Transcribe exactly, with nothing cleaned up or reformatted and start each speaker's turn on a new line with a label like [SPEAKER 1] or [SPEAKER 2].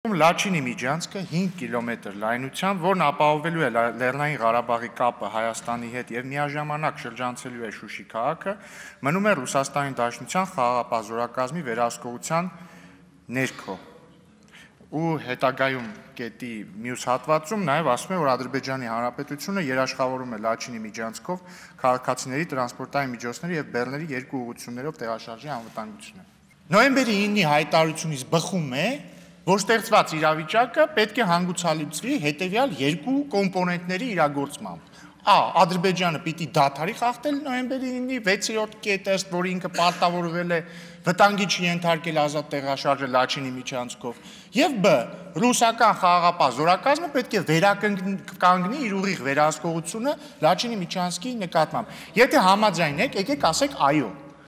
[SPEAKER 1] Լաչինի միջանցքը հինգ կիլոմետր լայնությամբ, որն ապահովելու է Լեռնային Ղարաբաղի կապը Հայաստանի հետ եւ միաժամանակ շրջանցելու է Շուշի քաղաքը, մնում է Ռուսաստանի Դաշնության խաղաղապահ զորակազմի վերահսկողության ներքո։ Ու հետագայում կետի մյուս հատվածում նաեւ ասում է, որ Ադրբեջանի Հանրապետությունը երաշխավորում է Լաչինի միջանցքով քաղաքացիների, տրանսպորտային միջոցների եւ բեռների երկու ուղղություններով տեղաշարժի անվտանգությունը։ Նոյեմբերի ինը հայտարարությունից բխում է, որ ստեղծված իրավիճակը պետք է հանգուցալուծվի հետևյալ երկու կոմպոնենտների իրագործմամբ։ Ա. Ադրբեջանը պիտի դադարի խախտել նոյեմբերի ինը վեցերորդ կետը, որը ինքը պարտավորվել է վտանգի չենթարկել ազատ տեղաշարժը Լաչինի միջանցքով, եւ Բ. Ռուսական խաղաղապահ զորակազմը պետք է վերականգնի իր ուղիղ վերահսկողությունը Լաչինի միջանցքի նկատմամբ։ Եթե համաձայն եք, եկեք ասեք այո։